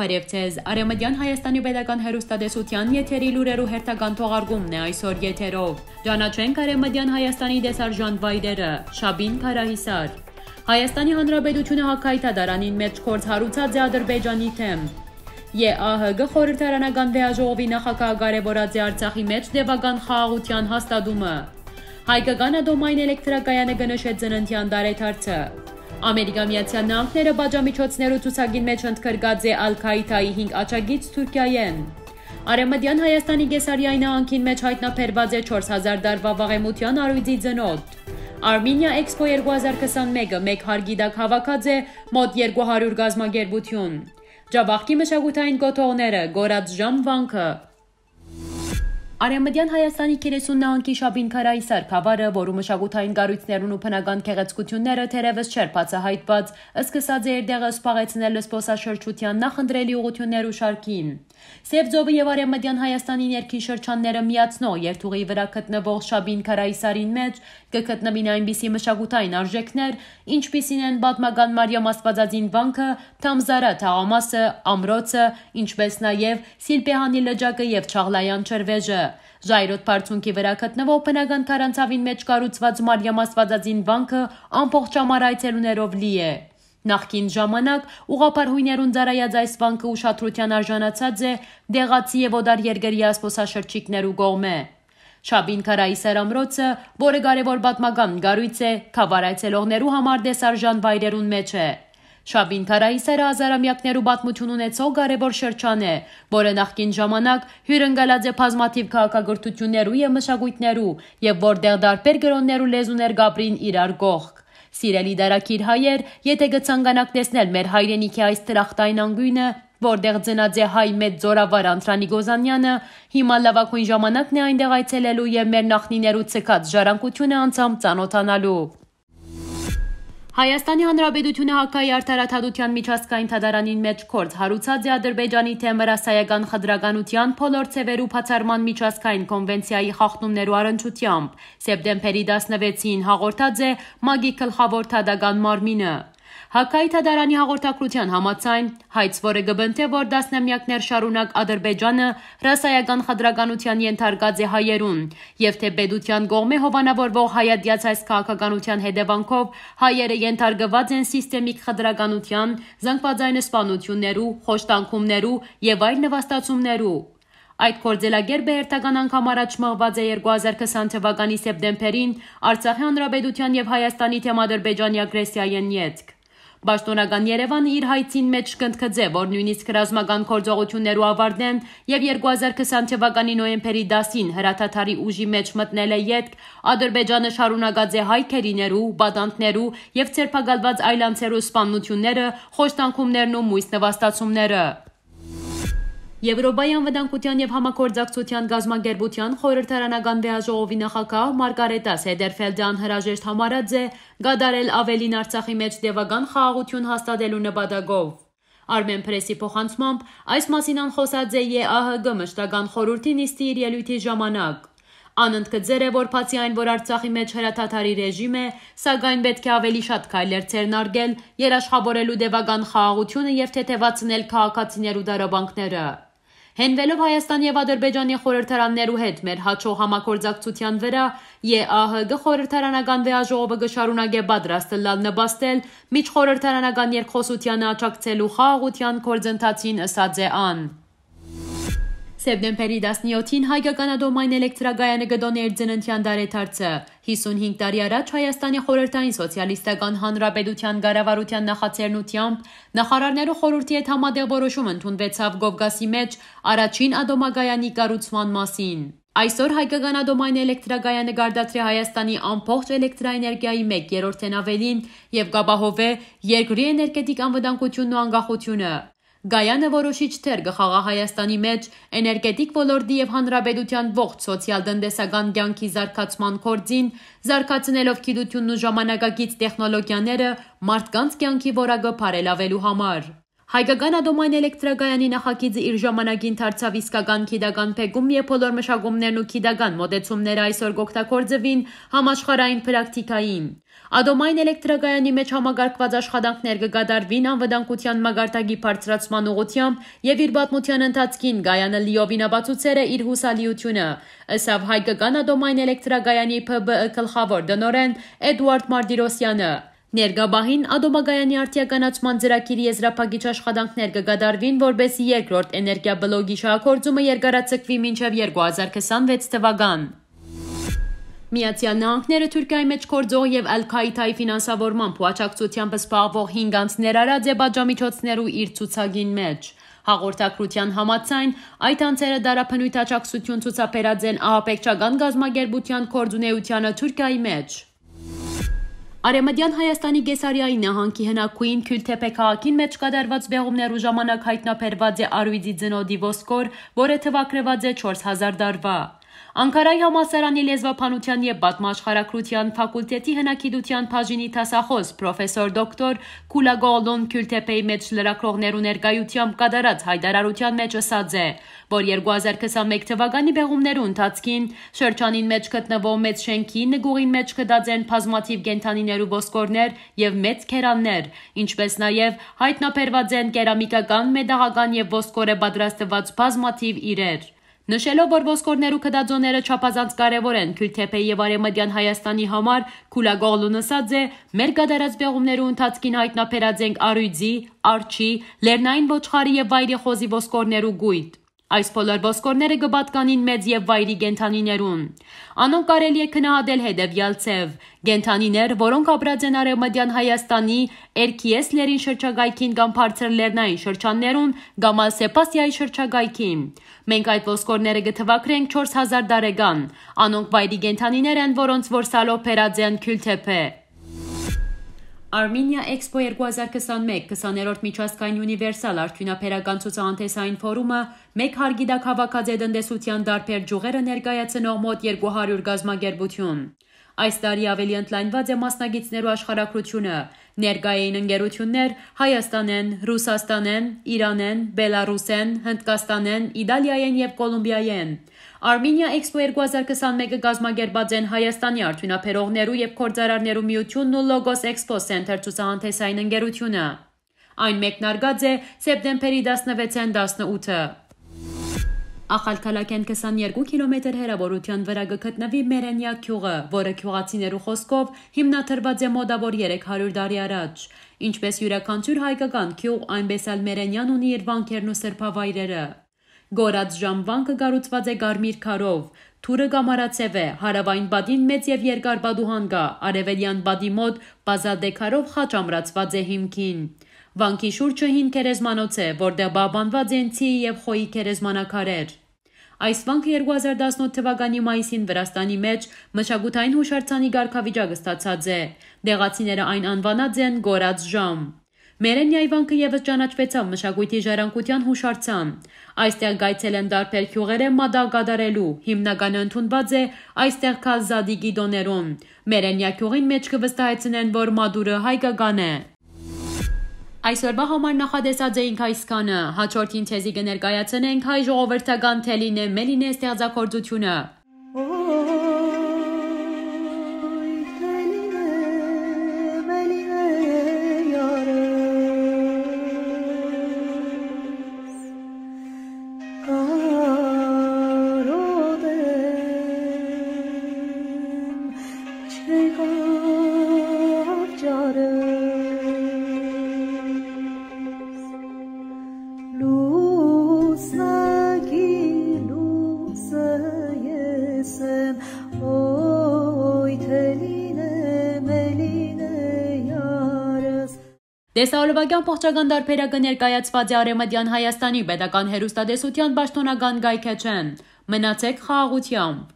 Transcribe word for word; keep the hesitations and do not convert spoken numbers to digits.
Բարեւ ձեզ։ Արեւմտեան Հայաստանի Պետական Հեռուստատեսութեան եթերի լուրերու հերթական թողարկումն է այսօր եթերով։ Ճանաչենք Արեւմտեան Հայաստանի տեսարժան վայրերը։ Շաբին Քարահիսար։ Հայաստանի Հանրապետությունը Հակայի դատարանին մէջ գործ հարուցած է Ադրբեջանի դէմ։ ԵԱՀԿ խորհրդարանական վեաժողովի նախագահը կարեւորած է Արցախի մէջ տեւական խաղաղութեան հաստատումը։ Հայկական ատոմային էլեկտրակայանը կը նշէ ծննդեան տարեդարձը։ Ամերիկա Միացյալ Նահանգները պատժամիջոցներու ցուցակին մէջ ընդգրկած է Ալ Քաիդայի հինգ աջակից Թուրքիայէն։ Արեւմտեան Հայաստանի Կեսարիայի նահանգին մէջ յայտնաբերուած է չորս հազար տարուան վաղեմութեան առիւծի ծնոտ։ Armenia Expo երկու հազար քսանմէկը մէկ հարկի տակ հաւաքած է մօտ երկու հարիւր կազմակերպութիւն։ Ջաւախքի մշակութային կոթողները, Գորած ժամ վանքը։ Արեւմտեան Հայաստանի քերեսուն նահանգի Շաբին Քարահիսար գաւառը, որու մշակութային կառոյցներուն ու բնական գեղեցկութիւնները թերեւս չէր բացայայտուած, սկսած է իր տեղը զբաղեցնել զբօսաշրջութեան նախընտրելի ուղղութիւններու շարքին։ Սեւ ծովը եւ Արեւմտեան Հայաստանի ներքին շրջանները միացնող երթուղի վրայ գտնուող Շաբին Քարահիսարին մէջ կը գտնուին այնպիսի մշակութային արժեքներ, ինչպիսին են պատմական Մարիամ Աստուածածին վանքը, Թամզարա թաղամասը, ամրոցը, ինչպէս նաեւ Սիլպեհանի լճակը եւ Չաղլայան ջրվեժը։ Ժայռոտ բարձունքի վրայ գտնուող բնական քարանձաւին մէջ կառուցուած Մարիամ Աստուածածին վանքը ամբողջ համար այցելուներով լի է։ Նախկին ժամանակ ուղղափառ յոյներուն ծառայած այս վանքը ուշադրութեան արժանացած է տեղացի եւ օտարերկրեայ զբօսաշրջիկներու կողմէ։ Շաբին Քարահիսար ամրոցը, որը կարեւոր պատմական կառոյց է, գաւառ այցելողներու համար տեսարժան վայրերուն մէջ է։ Շաբին Քարահիսարը հազարամեակներու պատմութիւն ունեցող կարեւոր շրջան է, որը նախկին ժամանակ հիւրընկալած է բազմաթիւ քաղաքակրթութիւններու եւ մշակոյթներու, եւ որտեղ տարբեր կրօններու լեզուներ կապրին իրար կողք։ Սիրելի դարակիր հայեր, եթէ կը ցանկանաք տեսնել մեր հայրենիքի այս դրախտային անկիւնը, որտեղ ծնած է հայ մեծ զօրավար Անդրանիկ Օզանեանը, հիմա լաւագոյն ժամանակն է այնտեղ այցելելու եւ մեր նախնիներու ցկած ժառանգութիւնը անձամբ ծանօթանալու։ Հայաստանի Հանրապետությունը Հակայի արդարադատութեան միջազգային դատարանին մէջ գործ հարուցած է Ադրբեջանի դէմ հրասայական խտրականութեան բոլոր ձեւերու բացառման միջազգային կոնվենցիայի խախտումներու առնչութեամբ, սեպտեմբերի տասնվեցին, հաղորդած է մագի գլխաւոր դատական մարմինը։ Հակայի դատարանի հաղորդագրութեան համաձայն, հայց, որը կը պնդէ, որ տասնամեակներ շարունակ Ադրբեջանը հրասայական խտրականութեան ենթարկած է հայերուն, եւ թէ պետութեան կողմէ հովանաւորուող հայատեաց այս քաղաքականութեան հետեւանքով հայերը ենթարկուած են սիստեմիկ խտրականութեան, զանգվածային սպանութիւններու, խոշտանգումներու եւ այլ նվաստացումներու։ Այդ գործելակերպը հերթական անգամ առաջ մղուած է երկու հազար քսան թվականի սեպտեմբերին Արցախի Հանրապետութեան եւ Հայաստանի դէմ Ադրբեջանի ագրեսիայէն ետք։ Պաշտօնական Երեւանը իր հայցին մէջ կ'ընդգծէ, որ նոյնիսկ ռազմական գործողութիւններու աւարտէն եւ երկու հազար քսան թվականի նոյեմբերի տասին հրադադարի ուժի մէջ մտնելէ ետք Ադրբեջանը շարունակած է հայ գերիներու, պատանդներու եւ ձերբակալուած այլանձերու սպաննութիւնները, խոշտանգումներն ու միւս նվաստացումները։ Եվրոպայի անվտանգութեան եւ համագործակցութեան կազմակերպութեան խորհրդարանական վեաժողովի նախագահ Մարգարետա Սեդերֆելդը անհրաժեշտ համարած է կատարել աւելին Արցախի մէջ տեւական խաղաղութիւն հաստատելու նպատակով։ Արմեն Պրեսի փոխանցմամբ, այս մասին ան խօսած է ԵԱՀԿ մշտական խորհրդի նիստի իր ելոյթի ժամանակ։ Ան ընդգծեր է, որ բացի այն, որ Արցախի մէջ հրադադարի ռեժիմ է, սակայն պէտք է աւելի շատ քայլեր ձեռնարկել՝ երաշխաւորելու տեւական խաղաղութիւնը եւ թեթեւացնել քաղաքացիներու տառապանքները։ Հենուելով Հայաստանի եւ Ադրբեջանի խորհրդարաններու հետ մեր հաջող համագործակցութեան վրայ, ԵԱՀԿ խորհրդարանական վեաժողովը կը շարունակէ պատրաստ ըլլալ նպաստել միջխորհրդարանական երկխօսությանը աջակցելու խաղաղութեան գործընթացին, ըսած է ան։ Սեպտեմբերի տասնյոթին հայկական ատոմային էլեկտրակայանը կը տօնէ իր ծննդեան տարեդարձը։ Հիսունհինգ տարի առաջ Հայաստանի խորհրդային սոցիալիստական հանրապետութեան կառավարութեան նախաձեռնութեամբ նախարարներու խորհրդի հետ համատեղ որոշում ընդունուեցաւ Կովկասի մէջ առաջին ատոմակայանի կառուցման մասին։ Այսօր հայկական ատոմային էլեկտրակայանը կարտադրէ Հայաստանի ամբողջ էլեկտրաէներգիայի մէկ երրորդէն աւելին եւ կ'ապահովէ երկրի էներգետիկ անվտանգութիւնն ու անկախութիւնը։ Կայանը որոշիչ դեր կը խաղայ Հայաստանի մէջ էներգետիկ ոլորտի եւ հանրապետութեան ողջ սոցիալ-տնտեսական կեանքի զարգացման գործին, զարգացնելով գիտութիւնն ու ժամանակակից տեխնոլոգիաները մարդկանց կեանքի որակը բարելաւելու համար։ Հայկական ատոմային էլեկտրակայանի նախագիծը իր ժամանակին դարձաւ իսկական գիտական բեկում, եւ բոլոր մշակումներն ու գիտական մոտեցումները այսօր կօգտագործուին համաշխարհային պրակտիկային։ Ատոմային էլեկտրակայանի մէջ համակարգուած աշխատանքներ կը կատարուին անվտանգության մակարդակի բարձրացման ուղղութեամբ, եւ իր պատմության ընթացքին կայանը լիովին ապացուցեր է իր յուսալիութիւնը, ըսաւ Հայկական ատոմային էլեկտրակայանի Փ Բ Ը գլխաւոր տնօրէն Էդուարդ Մարտիրոսյանը։ Ներկայ պահին ատոմակայանի արդիականացման ծրագիրի եզրափակիչ աշխատանքներ կը կատարուին, որպէսզի երկրորդ էներգիա բլոկի շահագործումը երկարաձգուի մինչեւ երկու հազար քսանվեց թուական։ Միացյալ Նահանգները Թուրքիայի մէջ գործող եւ Ալ Քաիդայի ֆինանսավորմամբ ու աջակցությամբ զբաղվող հինգ անձ ներառած է պատժամիջոցներու իր ցուցակին մէջ։ Հաղորդակցութեան համաձայն, այդ անձերը տարաբնոյթ աջակցութիւն ցուցաբերած են ահաբեկչական կազմակերպութեան գործունեությանը Թուրքիայի մէջ։ Արեւմտեան Հայաստանի Կեսարիայի նահանգի հնագոյն Քիլթեփե քաղաքին մէջ կատարուած պեղումներու ժամանակ յայտնաբերուած է առոյծի ծնոտի ոսկոր, որը թուագրուած է չորս հազար տարուայ։ Անկարայի համալսարանի լեզվաբանութեան եւ պատմաաշխարհագրութեան ֆակուլտետի հնագիտութեան բաժինի դասախօս պրոֆեսոր դոկտոր Քուլագօղլուն Քիլթեփեի մէջ լրագրողներու ներկայութեամբ կատարած յայտարարութեան մէջ ըսած է, որ երկու հազար քսանմէկ թուականի պեղումներու ընթացքին շրջանին մէջ գտնուող մեծ շէնքի նկուղին մէջ գտած են բազմաթիւ կենդանիներու ոսկորներ եւ մեծ գերաններ, ինչպէս նաեւ յայտնաբերուած են կերամիկական, մետաղական եւ ոսկորէ պատրաստուած բազմաթիւ իրեր։ Նշելով, որ ոսկորներու գտածոները չափազանց կարեւոր են Քիլթեփեի եւ Արեւմտեան Հայաստանի համար, Քուլագօղլուն ըսած է. «Մեր կատարած պեղումներու ընթացքին յայտնաբերած ենք առոյծի, արջի, լեռնային ոչխարի եւ վայրի խոզի ոսկորներու կոյտ։ Այս բոլոր ոսկորները կը պատկանին մեծ եւ վայրի կենդանիներուն։ Անոնք կարելի է գնահատել հետեւեալ ձեւ. կենդանիներ, որոնք ապրած են Արեւմտեան Հայաստանի, Էրքիես լեռին շրջակայքին կամ բարձր լեռնային շրջաններուն, կամ ալ Սեպասիայի շրջակայքին։ Մենք այդ ոսկորները կը թուագրենք չորս հազար տարեկան։ Անոնք վայրի կենդանիներ են, որոնց որ սալով բերած են Քիլթեփե»։ Armenia Expo երկու հազար քսանմէկ քսաներորդ միջազգային ունիվերսալ արդիւնաբերական ցուցահանդեսային ֆորումը մէկ հարկի տակ հաւաքած է տնտեսութեան տարբեր ճիւղերը ներկայացնող մօտ երկու հարիւր կազմակերպութիւն։ Այս տարի աւելի ընդլայնուած է մասնակիցներու աշխարհագրութիւնը։ Ներկայ էին ընկերութիւններ Հայաստանէն, Ռուսաստանէն, Իրանէն, Բելառուսէն, Հնդկաստանէն, Իտալիայէն եւ Կոլումբիայէն։ Armenia Expo երկու հազար քսանմէկը կազմակերպած են Հայաստանի արդիւնաբերողներու եւ գործարարներու միութիւնն ու Logos Expo Center ցուցահանդեսային ընկերութիւնը։ Այն մեկնարկած է սեպտեմբերի տասնվեցէն տասնութը։ Ախալքալաքէն քսաներկու կիլոմետր հեռաւորութեան վրայ կը գտնուի Մերենիա գիւղը, որը գիւղացիներու խօսքով հիմնադրուած է մօտաւոր երեք հարիւր տարի առաջ։ Ինչպէս իւրաքանչիւր հայկական գիւղ, այնպէս ալ Մերենիան ունի իր վանքերն ու սրբավայրերը։ Կորած ժամ վանքը կառուցուած է կարմիր քարով, թուրը կամարաձեւ է, հարաւային պատին մեծ եւ երկար պատուհան կայ, արեւելեան պատի մօտ պազալտե քարով խաչ ամրացուած է հիմքին։ Վանքի շուրջը հին գերեզմանոց է, որտեղ պահպանուած են ցիի եւ խոյի գերեզմանակարեր։ Այս վանքը երկու հազար տասնութ թուականի մայիսին Վրաստանի մէջ մշակութային յուշարձանի կարգավիճակ ստացած է։ Տեղացիները այն անուանած են Կորած ժամ։ Մերենիայի վանքը եւս ճանաչուեցաւ մշակոյթի ժառանգութեան յուշարձան։ Այստեղ կայցելեն տարբեր գիւղերէ մատաղ կատարելու, հիմնականը ընդունուած է այստեղ գալ Զատիկի տօներուն։ Մերենիա գիւղին մէջ կը վստահեցնեն, որ մատուրը հայկական է։ Այսօրվա համար նախատեսած էինք այսքանը։ Հաջորդին ձեզի կը ներկայացնենք հայ ժողովրդական Թելինե Մելինե ստեղծագործութիւնը։ Տեսահոլովակեան փոխջական տարբերակը ներկայացուած է Արեւմտեան Հայաստանի պետական հեռուստատեսութեան պաշտօնական կայքէջէն։ Մնացեք խաղաղութեամբ։